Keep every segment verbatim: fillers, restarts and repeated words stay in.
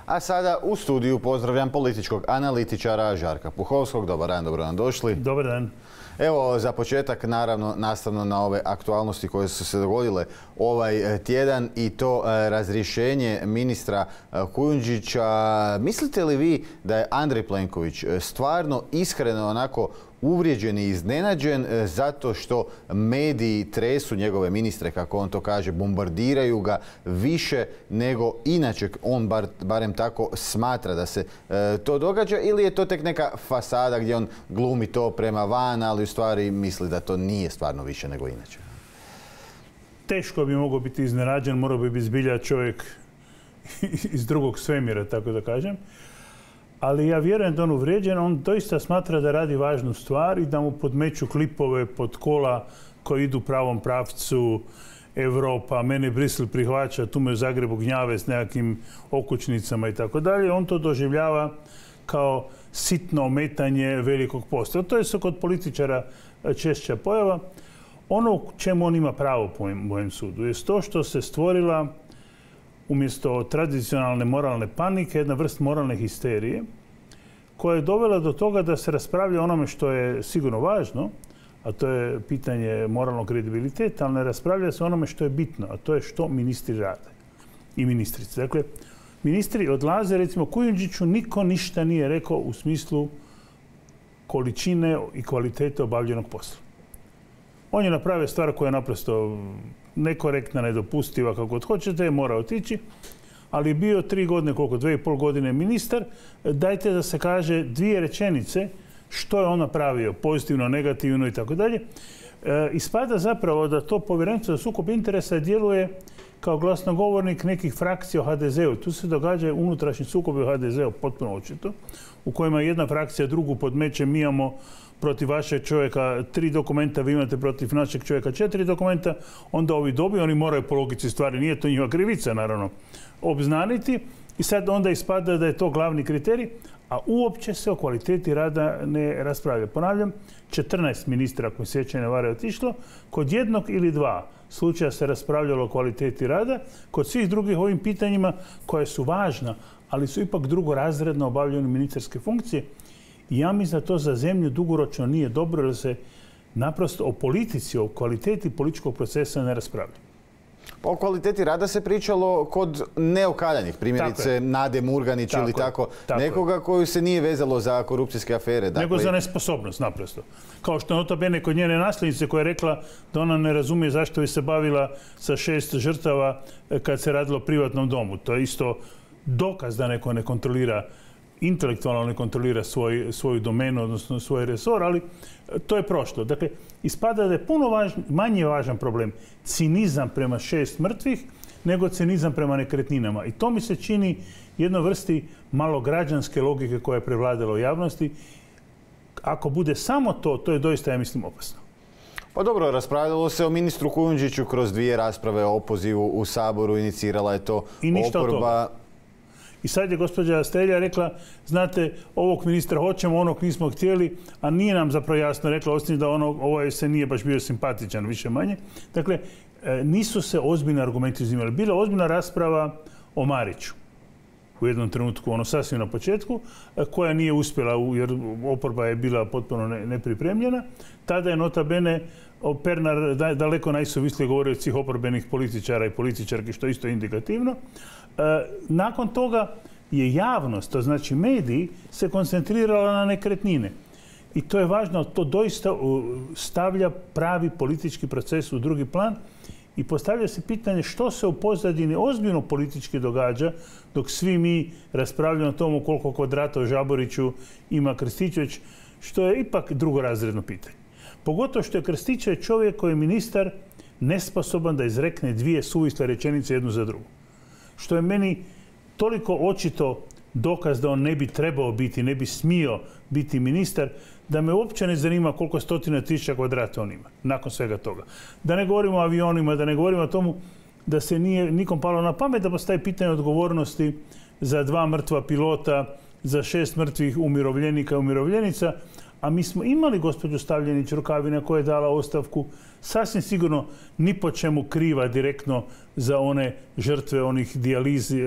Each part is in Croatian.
A sada u studiju pozdravljam političkog analitičara Žarka Puhovskog. Dobar dan, dobro nam došli. Dobar dan. Evo, za početak, naravno, nastavno na ove aktualnosti koje su se dogodile ovaj tjedan i to razrješenje ministra Kujundžića. Mislite li vi da je Andrej Plenković stvarno iskreno onako uvrijeđen i iznenađen zato što mediji tresu njegove ministre, kako on to kaže, bombardiraju ga više nego inače on bar, barem tako smatra da se e, to događa, ili je to tek neka fasada gdje on glumi to prema van, ali u stvari misli da to nije stvarno više nego inače? Teško bi mogao biti iznenađen, morao bi biti zbilja čovjek iz drugog svemira, tako da kažem. Ali ja vjerujem da on uvrijeđen, on doista smatra da radi važnu stvar i da mu podmeću klipove pod kola koji idu u pravom pravcu. Europa, mene Brisel prihvaća, tu me u Zagrebu gnjave s nekakvim okućnicama i tako dalje. On to doživljava kao sitno ometanje velikog posla. To je se kod političara češća pojava. Ono čemu on ima pravo po mojem sudu je to što se stvorila umjesto tradicionalne moralne panike, jedna vrst moralne histerije koja je dovela do toga da se raspravlja o onome što je sigurno važno, a to je pitanje moralnog kredibiliteta, ali ne raspravlja se o onome što je bitno, a to je što ministri rade i ministrice. Dakle, ministri odlaze, recimo Kujundžiću niko ništa nije rekao u smislu količine i kvalitete obavljenog posla. On je napravio stvar koja je naprosto nekorektna, nedopustiva, kako god hoćete, mora otići, ali je bio tri godine, koliko, dvije i pol godine ministar. Dajte da se kaže dvije rečenice što je on napravio, pozitivno, negativno i tako dalje. Ispada zapravo da to povjerenstvo za sukob interesa djeluje kao glasnogovornik nekih frakcija u ha de zeu. Tu se događa unutrašnji sukob u ha de zeu, potpuno očito, u kojima jedna frakcija drugu podmeće, mi imamo protiv vašeg čovjeka tri dokumenta, vi imate protiv našeg čovjeka četiri dokumenta, onda ovi dobiju, oni moraju po logici stvari, nije to njihova krivica, naravno, obznaniti. I sad onda ispada da je to glavni kriterij, a uopće se o kvaliteti rada ne raspravlja. Ponavljam, četrnaest ministra, ako se sjećanje ne vara, je otišlo. Kod jednog ili dva slučaja se raspravljalo o kvaliteti rada. Kod svih drugih ovim pitanjima koje su važna, ali su ipak drugorazredno obavljene ministarske funkcije. I ja mislim da to za zemlju dugoročno nije dobro, jer se naprosto o politici, o kvaliteti političkog procesa ne raspravlja. O kvaliteti rada se pričalo kod neokaljanih, primjerice Nade Murganić tako ili tako, tako nekoga koju se nije vezalo za korupcijske afere. Dakle, nego za nesposobnost, naprosto. Kao što je nota bene kod njene nasljednice koja je rekla da ona ne razumije zašto bi se bavila sa šest žrtava kad se radilo o privatnom domu. To je isto dokaz da neko ne kontrolira, intelektualno ne kontrolira svoj, svoju domenu, odnosno svoj resor, ali to je prošlo. Dakle, ispada da je puno važn, manje važan problem cinizam prema šest mrtvih nego cinizam prema nekretninama. I to mi se čini jednoj vrsti malograđanske logike koja je prevladala u javnosti. Ako bude samo to, to je doista, ja mislim, opasno. Pa dobro, raspravljalo se o ministru Kujundžiću kroz dvije rasprave o opozivu u Saboru, inicirala je to oporba. I sad je gospođa Strelja rekla, znate, ovog ministra hoćemo, onog nismo htjeli, a nije nam zapravo jasno rekla, osim da ono, ovaj se nije baš bio simpatičan, više manje. Dakle, nisu se ozbiljni argumenti uzimali. Bila ozbiljna rasprava o Mariću u jednom trenutku, ono sasvim na početku, koja nije uspjela, jer oporba je bila potpuno nepripremljena. Tada je nota bene Pernar daleko najsuvislije govorio od svih oporbenih političara i političarki, što je isto indikativno. Nakon toga je javnost, to znači mediji, se koncentrirala na nekretnine. I to je važno, to doista stavlja pravi politički proces u drugi plan i postavlja se pitanje što se u pozadini ozbiljno politički događa dok svi mi raspravljamo o tomu koliko kvadrata u Žaboriću ima Krstičević, što je ipak drugorazredno pitanje. Pogotovo što je Krstičević čovjek koji je ministar nesposoban da izrekne dvije suvisle rečenice jednu za drugu. Što je meni toliko očito dokaz da on ne bi trebao biti, ne bi smio biti ministar, da me uopće ne zanima koliko stotina tisuća kvadrata on ima, nakon svega toga. Da ne govorimo o avionima, da ne govorimo o tomu da se nije nikom palo na pamet da postavi pitanje odgovornosti za dva mrtva pilota, za šest mrtvih umirovljenika i umirovljenica, a mi smo imali gospođu Stavljenić Rukavina koja je dala ostavku sasvim sigurno ni po čemu kriva direktno za one žrtve onih dijalizi,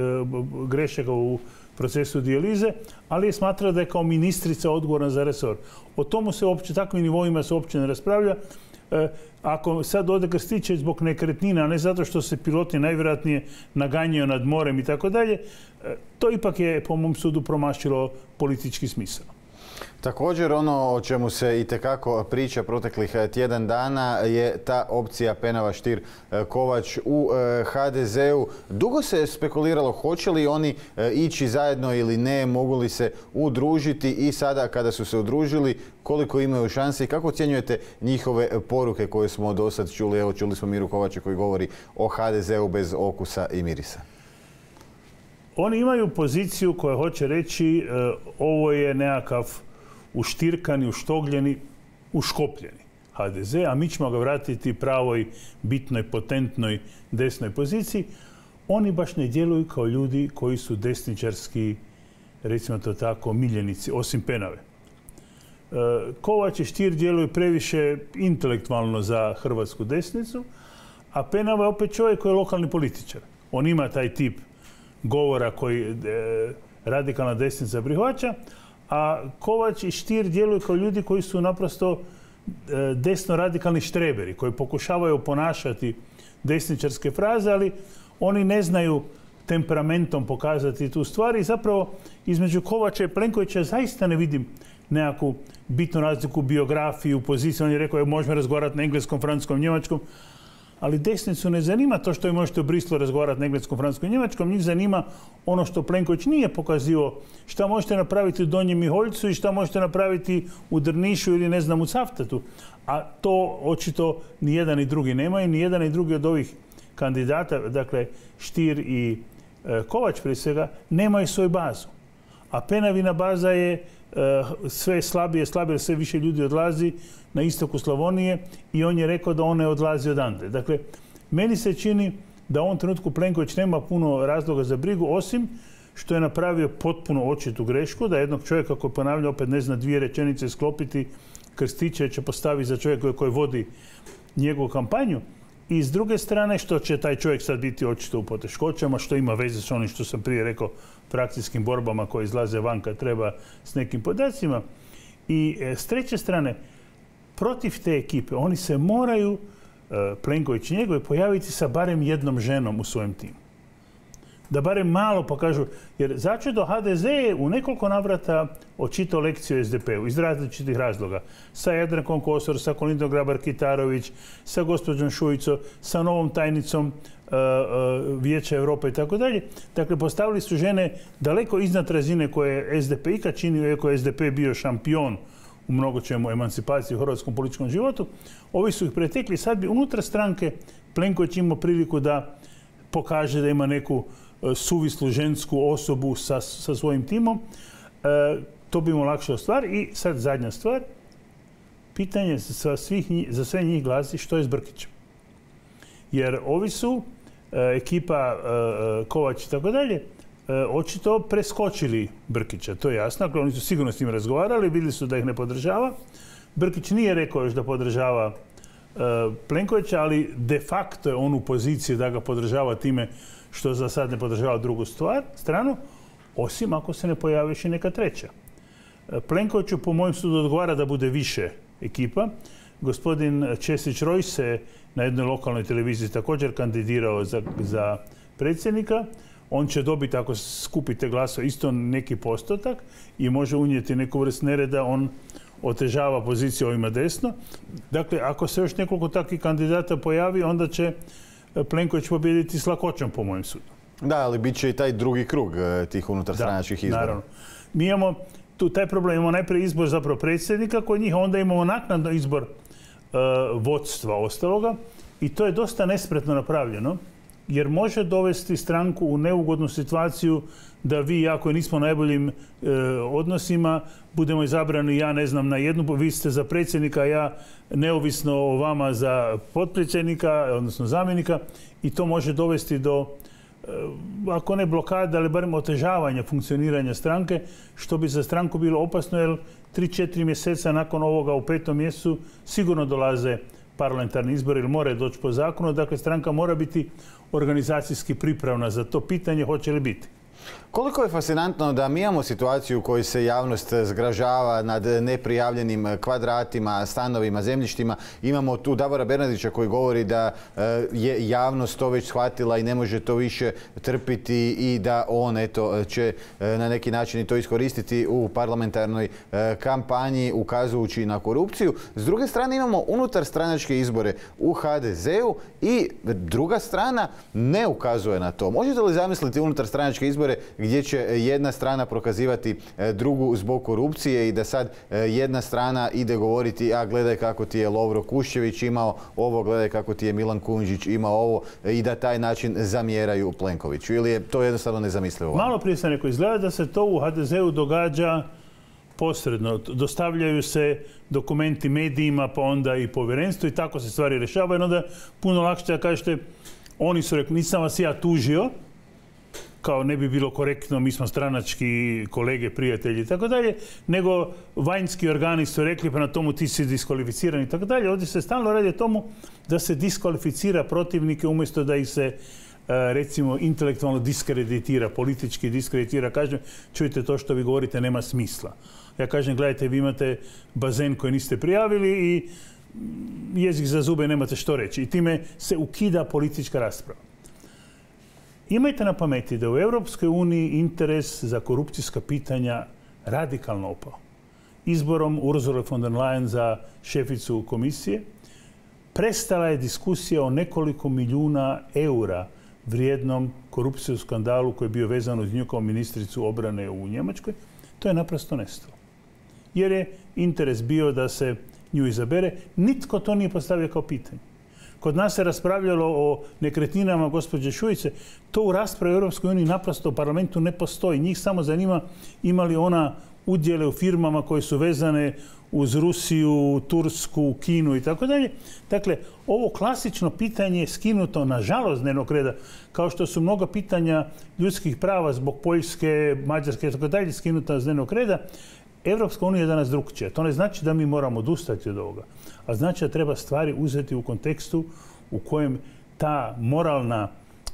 grešaka u procesu dijalize, ali je smatrala da je kao ministrica odgovorna za resor. O tomu se uopće, takvim nivoima se uopće ne raspravlja. Ako sad ode Krstičević zbog nekretnina, a ne zato što se piloti najvjerojatnije naganjaju nad morem i tako dalje, to ipak je, po mom sudu, promašilo politički smisao. Također, ono o čemu se itekako priča proteklih tjedan dana je ta opcija Penava-Stier-Kovač u ha de zeu. Dugo se spekuliralo hoće li oni ići zajedno ili ne, mogu li se udružiti i sada kada su se udružili, koliko imaju šanse i kako ocjenjujete njihove poruke koje smo do sad čuli? Evo, čuli smo Miru Kovača koji govori o ha de zeu bez okusa i mirisa. Oni imaju poziciju koja hoće reći ovo je nekakav uštirkani, uštogljeni, uškopljeni ha de ze, a mi ćemo ga vratiti pravoj, bitnoj, potentnoj desnoj poziciji. Oni baš ne djeluju kao ljudi koji su desničarski, recimo to tako, miljenici, osim Penave. Kovač i Stier djeluju previše intelektualno za hrvatsku desnicu, a Penava je opet čovjek koji je lokalni političar. On ima taj tip govora koji radikalna desnica prihvaća, a Kovač i Stier djeluju kao ljudi koji su naprosto desno radikalni štreberi, koji pokušavaju ponašati desničarske fraze, ali oni ne znaju temperamentom pokazati tu stvar i zapravo između Kovača i Plenkovića zaista ne vidim nekakvu bitnu razliku u biografiji, u poziciji. On je rekao, možemo razgovarati na engleskom, francuskom, njemačkom, ali desnicu ne zanima to što vi možete u Brislu razgovarati na engleskom, francuskom i njemačkom. Njih zanima ono što Plenković nije pokazio, šta možete napraviti u Donjem Miholjcu i šta možete napraviti u Drnišu ili ne znam u Cavtatu. A to očito ni jedan ni drugi nemaju, ni jedan ni drugi od ovih kandidata, dakle Stier i e, Kovač prije svega, nemaju svoju bazu. A Penavina baza je e, sve slabije, slabije, sve više ljudi odlazi na istoku Slavonije i on je rekao da on ne odlazi odande. Dakle, meni se čini da u ovom trenutku Plenković nema puno razloga za brigu, osim što je napravio potpuno očitu grešku, da jednog čovjeka koji ponavlja opet ne zna dvije rečenice sklopiti, Krstičevića postavi za čovjeka koji vodi njegovu kampanju. I s druge strane, što će taj čovjek sad biti očito u poteškoćama, što ima veze s onim što sam prije rekao, frakcijskim borbama koje izlaze van kad treba s nekim podacima. I e, s treće strane, protiv te ekipe oni se moraju, e, Plenković i njegovi, pojaviti sa barem jednom ženom u svojem timu. Da barem malo pokažu, jer začudo ha de ze je u nekoliko navrata očitao lekciju es de pe-u iz različitih razloga. Sa Jadrankom Kosor, sa Kolindom Grabar-Kitarović, sa gospođom Šuico, sa novom tajnicom uh, uh, Vijeća Europe i tako dalje. Dakle, postavili su žene daleko iznad razine koje je es de pe ikad činio, iako je es de pe bio šampion u mnogo čemu emancipaciji u hrvatskom političkom životu. Ovi su ih pretekli. Sad bi unutar stranke Plenković imao priliku da pokaže da ima neku suvislu žensku osobu sa, sa svojim timom. E, to bi mu olakšao stvar. I sad zadnja stvar. Pitanje za, svih njih, za sve njih glasi što je s Brkićem. Jer ovi su, e, ekipa e, Kovač i tako dalje, e, očito preskočili Brkića. To je jasno. Dakle, oni su sigurno s njim razgovarali, vidjeli su da ih ne podržava. Brkić nije rekao još da podržava e, Plenkovića, ali de facto je on u poziciji da ga podržava time što za sad ne podržava drugu stvar, stranu, osim ako se ne pojavi još i neka treća. Plenkoviću, po mojem sudu, odgovara da bude više ekipa. Gospodin Česić Roj se na jednoj lokalnoj televiziji također kandidirao za, za predsjednika. On će dobiti, ako skupite glasove, isto neki postotak i može unijeti neku vrst nereda. On otežava poziciju ovima desno. Dakle, ako se još nekoliko takvih kandidata pojavi, onda će Plenković pobijediti s lakoćom, po mojem sudu. Da, ali bit će i taj drugi krug tih unutarstranačkih izbora. Naravno. Mi imamo tu taj problem. Imamo najprije izbor zapravo predsjednika kod njih, onda imamo naknadno izbor uh, vodstva ostaloga i to je dosta nespretno napravljeno, jer može dovesti stranku u neugodnu situaciju da vi, ja koji nismo u najboljim e, odnosima, budemo izabrani, ja ne znam, na jednu, vi ste za predsjednika, ja neovisno o vama za potpredsjednika, odnosno zamjenika, i to može dovesti do, e, ako ne blokada, ali barem otežavanja funkcioniranja stranke, što bi za stranku bilo opasno, jer tri četiri mjeseca nakon ovoga u petom mjesecu sigurno dolaze parlamentarni izbori ili moraju doći po zakonu. Dakle, stranka mora biti organizacijski pripravna za to pitanje hoće li biti. Koliko je fascinantno da mi imamo situaciju u kojoj se javnost zgražava nad neprijavljenim kvadratima, stanovima, zemljištima. Imamo tu Davora Bernardića koji govori da je javnost to već shvatila i ne može to više trpiti i da on eto, će na neki način i to iskoristiti u parlamentarnoj kampanji ukazujući na korupciju. S druge strane imamo unutar stranačke izbore u ha de zeu i druga strana ne ukazuje na to. Možete li zamisliti unutar stranačke izbore gdje će jedna strana prokazivati drugu zbog korupcije i da sad jedna strana ide govoriti a gledaj kako ti je Lovro Kuščević imao ovo, gledaj kako ti je Milan Kujundžić imao ovo i da taj način zamjeraju Plenkoviću ili je to jednostavno nezamislivo? Malo prije sam rekao, izgleda da se to u ha de zeu događa posredno. Dostavljaju se dokumenti medijima pa onda i povjerenstvu i tako se stvari rješavaju. Onda puno lakše da kažete oni su rekli nisam vas ja tužio, kao ne bi bilo korektno, mi smo stranački kolege, prijatelji i tako dalje, nego vanjski organi su rekli pa na tomu ti si diskvalificiran i tako dalje. Ovdje se stalno radi o tomu da se diskvalificira protivnike umjesto da ih se recimo intelektualno diskreditira, politički diskreditira. Kažem, čujte to što vi govorite nema smisla. Ja kažem, gledajte, vi imate bazen koji niste prijavili i jezik za zube nemate što reći. I time se ukida politička rasprava. Imajte na pameti da u Europskoj uniji interes za korupcijska pitanja radikalno opao. Izborom Ursule von der Leyen za šeficu komisije prestala je diskusija o nekoliko milijuna eura vrijednom korupcijskom skandalu koji je bio vezan uz nju kao ministricu obrane u Njemačkoj. To je naprosto nestalo. Jer je interes bio da se nju izabere. Nitko to nije postavio kao pitanje. Kod nas se raspravljalo o nekretninama gospođe Šuice. To u raspravi u Europskoj uniji naprosto u parlamentu ne postoji. Njih samo zanima ima li ona udjele u firmama koje su vezane uz Rusiju, Tursku, Kinu i tako dalje. Dakle, ovo klasično pitanje je skinuto, nažalost, dnevnog reda, kao što su mnoga pitanja ljudskih prava zbog Poljske, Mađarske i tako dalje skinuta s dnevnog reda. Europska unija je danas drukčija. To ne znači da mi moramo odustati od ovoga, a znači da treba stvari uzeti u kontekstu u kojem ta moralna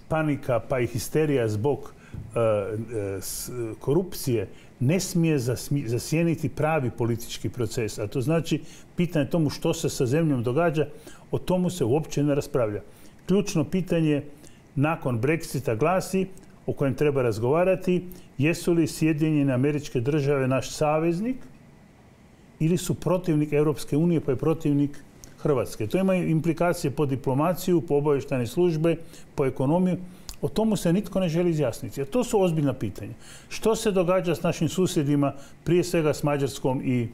panika pa i histerija zbog uh, uh, korupcije ne smije zasjeniti pravi politički proces. A to znači pitanje tomu što se sa zemljom događa, o tomu se uopće ne raspravlja. Ključno pitanje nakon Brexita glasi, o kojem treba razgovarati, jesu li Sjedinjene Američke Države naš saveznik ili su protivnik Europske unije pa je protivnik Hrvatske. To ima implikacije po diplomaciju, po obavještajne službe, po ekonomiju. O tomu se nitko ne želi izjasniti. A to su ozbiljna pitanja. Što se događa s našim susjedima, prije svega s Mađarskom i e,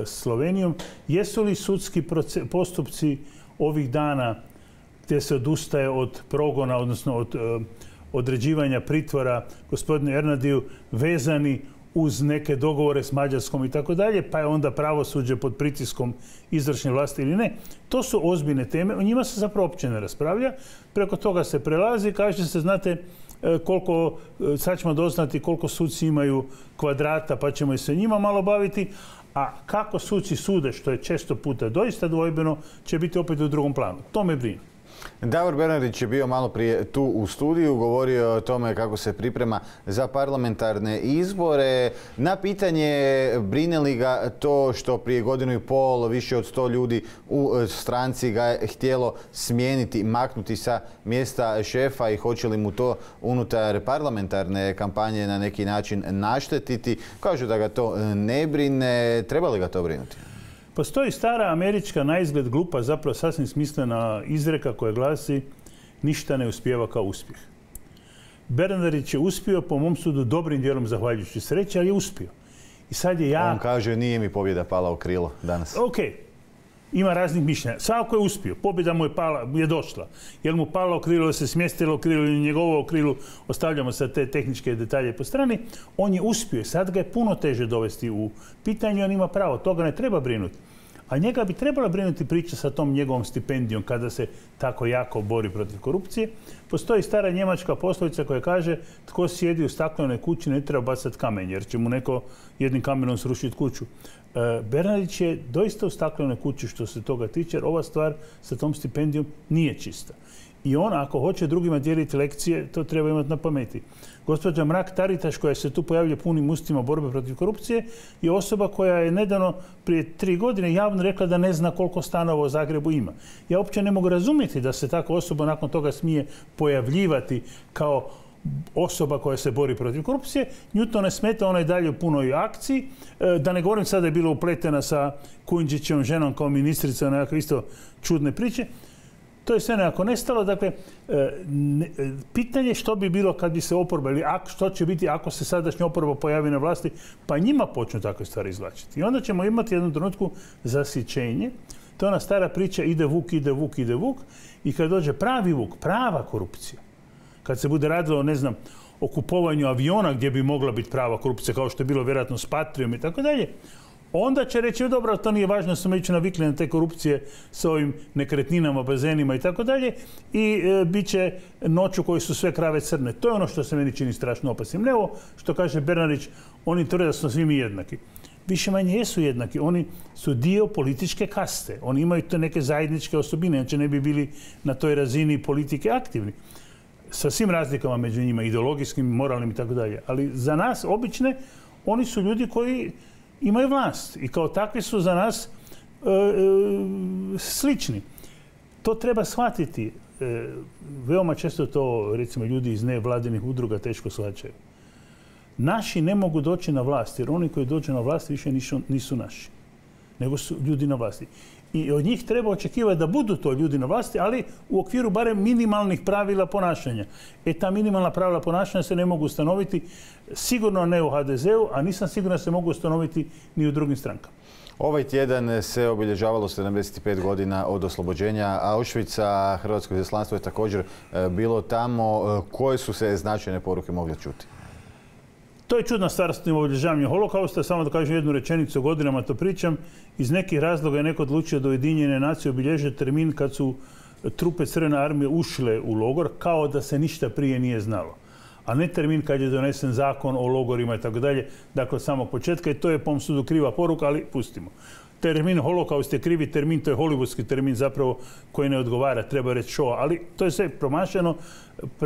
Slovenijom? Jesu li sudski postupci ovih dana gdje se odustaje od progona, odnosno od e, određivanja pritvora gospodinu Ernadiju vezani uz neke dogovore s Mađarskom i tako dalje, pa je onda pravosuđe pod pritiskom izvršne vlasti ili ne. To su ozbiljne teme, o njima se zapravo uopće ne raspravlja. Preko toga se prelazi, kaže se, znate koliko, sad ćemo doznati koliko suci imaju kvadrata, pa ćemo i se njima malo baviti, a kako suci sude, što je često puta doista dvojbeno, će biti opet u drugom planu. To me brine. Davor Bernardić je bio malo prije tu u studiju, govorio o tome kako se priprema za parlamentarne izbore. Na pitanje brine li ga to što prije godinu i pol više od sto ljudi u stranci ga je htjelo smijeniti, maknuti sa mjesta šefa i hoće li mu to unutar parlamentarne kampanje na neki način naštetiti. Kažu da ga to ne brine. Treba li ga to brinuti? Postoji stara američka, naizgled glupa, zapravo sasvim smislena izreka koja glasi ništa ne uspijeva kao uspjeh. Bernardić je uspio, po mom sudu, dobrim dijelom zahvaljujući sreći, ali je uspio. I sad je ja... On kaže nije mi pobjeda pala u krilo danas. Ok, ima raznih mišljenja. Svako je uspio, pobjeda mu je, pala, je došla. Jel mu pala u krilo, se smjestilo u krilo ili njegovo u krilu, ostavljamo sad te tehničke detalje po strani. On je uspio, sad ga je puno teže dovesti u pitanje, on ima pravo, toga ne treba brinuti. A njega bi trebala brinuti priča sa tom njegovom stipendijom kada se tako jako bori protiv korupcije. Postoji stara njemačka poslovica koja kaže tko sjedi u staklenoj kući ne treba bacati kamen jer će mu neko jednim kamenom srušiti kuću. Bernardić je doista u staklenoj kući što se toga tiče jer ova stvar sa tom stipendijom nije čista. I on, ako hoće drugima dijeliti lekcije, to treba imati na pameti. Gospođa Mrak-Taritaš, koja se tu pojavlja punim ustima borbe protiv korupcije, je osoba koja je nedavno, prije tri godine, javno rekla da ne zna koliko stanova u Zagrebu ima. Ja uopće ne mogu razumjeti da se takva osoba nakon toga smije pojavljivati kao osoba koja se bori protiv korupcije. Nju to ne smeta, ona je dalje u punoj akciji. Da ne govorim sada je bila upletena sa Kujundžićevom ženom kao ministrica, nekakve isto čudne priče. To je sve nekako nestalo. Dakle, ne, pitanje što bi bilo kad bi se oporba, ili što će biti ako se sadašnja oporba pojavi na vlasti, pa njima počnu takve stvari izvlačiti. I onda ćemo imati jednu trenutku zasićenje. To je ona stara priča ide vuk, ide vuk, ide vuk. I kad dođe pravi vuk, prava korupcija, kad se bude radilo, ne znam, o kupovanju aviona gdje bi mogla biti prava korupcija, kao što je bilo vjerojatno s Patrijom i tako dalje, onda će reći, dobro, to nije važno, smo već navikli na te korupcije s ovim nekretninama, bazenima i tako dalje i e, bit će noću koji su sve krave crne. To je ono što se meni čini strašno opasnim. Ne ovo što kaže Bernardić, oni tvrde da smo svi mi jednaki. Više manje jesu jednaki. Oni su dio političke kaste. Oni imaju te neke zajedničke osobine, znači ne bi bili na toj razini politike aktivni. Sa svim razlikama među njima, ideologijskim, moralnim i tako dalje. Ali za nas, obične, oni su ljudi koji imaju vlast i kao takvi su za nas e, e, slični. To treba shvatiti. E, veoma često to, recimo, ljudi iz nevladinih udruga teško shvaćaju. Naši ne mogu doći na vlast, jer oni koji dođu na vlast više nisu, nisu naši, nego su ljudi na vlasti. I od njih treba očekivati da budu to ljudi na vlasti, ali u okviru barem minimalnih pravila ponašanja. E, ta minimalna pravila ponašanja se ne mogu ustanoviti, sigurno ne u ha de zeu, a nisam siguran da se mogu ustanoviti ni u drugim strankama. Ovaj tjedan se obilježavalo sedamdeset pet godina od oslobođenja Auschwitza. Hrvatsko izaslanstvo je također bilo tamo. Koje su se značajne poruke mogle čuti? To je čudna stvar s tim obilježavanjem holokausta. Samo da kažem jednu rečenicu, godinama to pričam. Iz nekih razloga je neko odlučio da Ujedinjene nacije obilježe termin kad su trupe Crvene armije ušle u logor, kao da se ništa prije nije znalo. A ne termin kad je donesen zakon o logorima i tako dalje, dakle od samog početka. I to je po mom sudu kriva poruka, ali pustimo. Termin holokaust je krivi termin, to je hollywoodski termin zapravo koji ne odgovara, treba reći show, ali to je sve promašeno.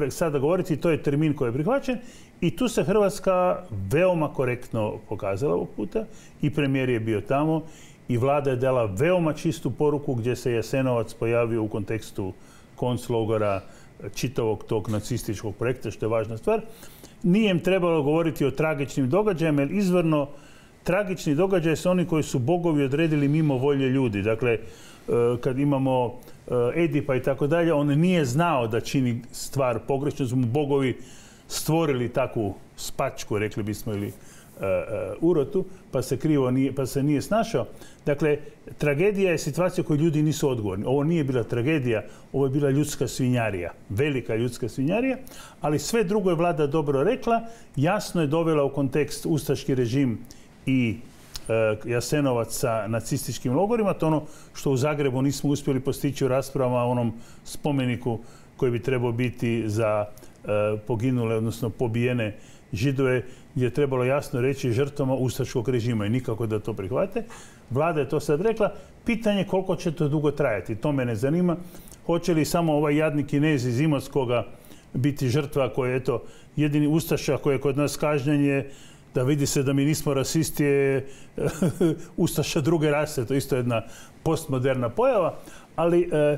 Sada govoriti, to je termin koji je prihvaćen i tu se Hrvatska veoma korektno pokazala ovog puta i premijer je bio tamo i vlada je dala veoma čistu poruku gdje se Jasenovac pojavio u kontekstu konclogora čitavog tog nacističkog projekta, što je važna stvar. Nije im trebalo govoriti o tragičnim događajima, jer izvorno tragični događaj su oni koji su bogovi odredili mimo volje ljudi. Dakle, kad imamo Edipa i tako dalje, on nije znao da čini stvar pogrešno, su mu bogovi stvorili takvu spačku, rekli bismo, ili urotu, pa se krivo nije, pa se nije snašao. Dakle, tragedija je situacija koju ljudi nisu odgovorni. Ovo nije bila tragedija, ovo je bila ljudska svinjarija, velika ljudska svinjarija, ali sve drugo je vlada dobro rekla, jasno je dovela u kontekst ustaški režim i e, Jasenovac sa nacističkim logorima. To ono što u Zagrebu nismo uspjeli postići u raspravama o onom spomeniku koji bi trebao biti za e, poginule, odnosno pobijene Židove, gdje je trebalo jasno reći žrtvama ustaškog režima i nikako da to prihvate. Vlada je to sad rekla. Pitanje koliko će to dugo trajati. To mene zanima. Hoće li samo ovaj jadni Kinez iz Imotskoga biti žrtva koja je eto jedini ustaša koji je kod nas kažnjen je da vidi se da mi nismo rasisti je ustaša druge rase. To je isto jedna postmoderna pojava. Ali e,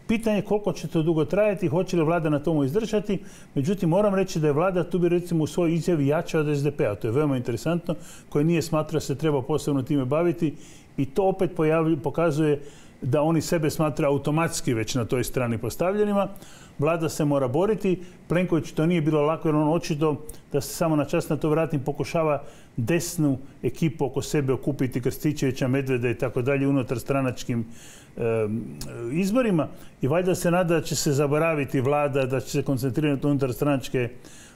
pitanje je koliko će to dugo trajati, hoće li vlada na tomu izdržati. Međutim, moram reći da je vlada tu bi recimo u svojoj izjavi jača od es de pe a. To je veoma interesantno, koji nije smatrao se treba posebno time baviti i to opet pojavlju, pokazuje da oni sebe smatra automatski već na toj strani postavljenima. Vlada se mora boriti. Plenković to nije bilo lako jer on očito, da se samo na čas na to vratim, pokušava desnu ekipu oko sebe okupiti, Krstičevića, Medveda i tako dalje unutar stranačkim e, izborima. I valjda se nada da će se zaboraviti vlada, da će se koncentrirati unutar stranačke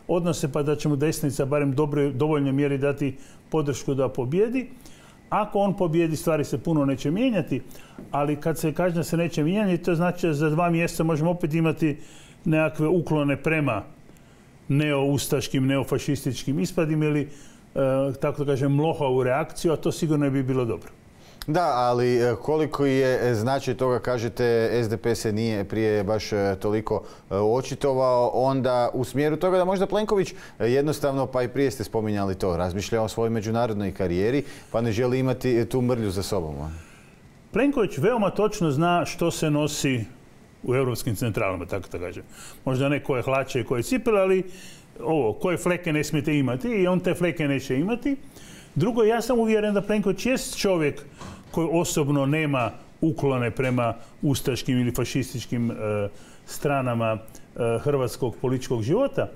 odnose, pa da će mu desnica barem dobro, dovoljno mjeri dati podršku da pobjedi. Ako on pobjedi, stvari se puno neće mijenjati, ali kad se kaže da se neće mijenjati, to znači da za dva mjeseca možemo opet imati nekakve uklone prema neoustaškim, neofašističkim ispadima ili, tako da kažem, mlohavu reakciju, a to sigurno ne bi bilo dobro. Da, ali koliko je značaj toga, kažete, S D P se nije prije baš toliko očitovao, onda u smjeru toga da možda Plenković jednostavno, pa i prije ste spominjali to, razmišlja o svojoj međunarodnoj karijeri, pa ne želi imati tu mrlju za sobom. Plenković veoma točno zna što se nosi u europskim centralama, tako da kažem. Možda ne koje hlače i koje cipele, ali ovo, koje fleke ne smijete imati i on te fleke neće imati. Drugo, ja sam uvjeren da Plenković jest čovjek koji osobno nema uklone prema ustaškim ili fašističkim e, stranama e, hrvatskog političkog života,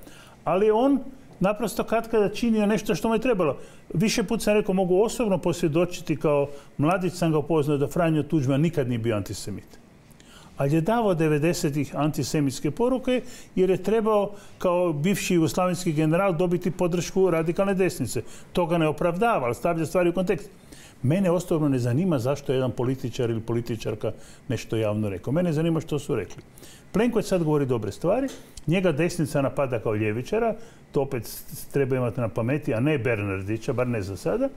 ali on naprosto katkada činio nešto što mu je trebalo. Više put sam rekao, mogu osobno posvjedočiti, kao mladić sam ga upoznao da Franjo Tuđman nikad nije bio antisemit. Ali je davao devedesetih antisemitske poruke jer je trebao kao bivši jugoslavenski general dobiti podršku radikalne desnice. To ga ne opravdava, ali stavlja stvari u kontekst. Mene osobno ne zanima zašto je jedan političar ili političarka nešto javno rekao. Mene zanima što su rekli. Plenković sad govori dobre stvari, njega desnica napada kao ljevičara, to opet treba imati na pameti, a ne Bernardića, bar ne za sada.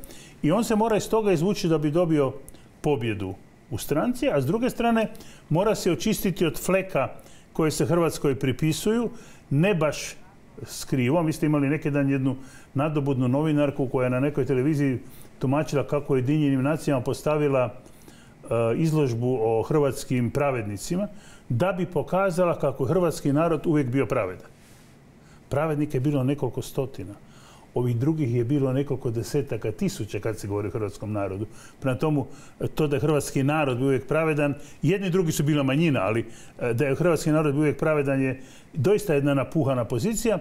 I on se mora iz toga izvući da bi dobio pobjedu u stranci, a s druge strane mora se očistiti od fleka koje se Hrvatskoj pripisuju, ne baš skrivo. Vi ste imali neki dan jednu nadobudnu novinarku koja je na nekoj televiziji tumačila kako je Ujedinjenim nacijama postavila uh, izložbu o hrvatskim pravednicima da bi pokazala kako je hrvatski narod uvijek bio pravedan. Pravednika je bilo nekoliko stotina. Ovih drugih je bilo nekoliko desetaka tisuća kad se govori o hrvatskom narodu. Prema tomu, to da je hrvatski narod bio uvijek pravedan, jedni i drugi su bila manjina, ali da je hrvatski narod bio uvijek pravedan je doista jedna napuhana pozicija.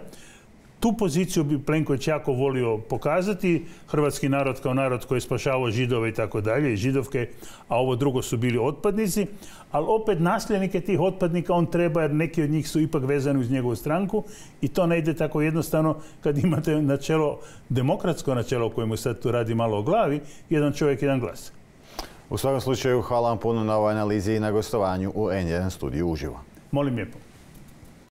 Tu poziciju bi Plenković jako volio pokazati. Hrvatski narod kao narod koji je spašavao Židove i tako dalje, i Židovke, a ovo drugo su bili otpadnici. Ali opet nasljednike tih otpadnika on treba, jer neki od njih su ipak vezani uz njegovu stranku i to ne ide tako jednostavno kad imate načelo, demokratsko načelo o kojemu sad tu radi malo o glavi, jedan čovjek, jedan glas. U svakom slučaju, hvala vam puno na ovoj analizi i na gostovanju u N jedan studiju uživo. Molim lijepo.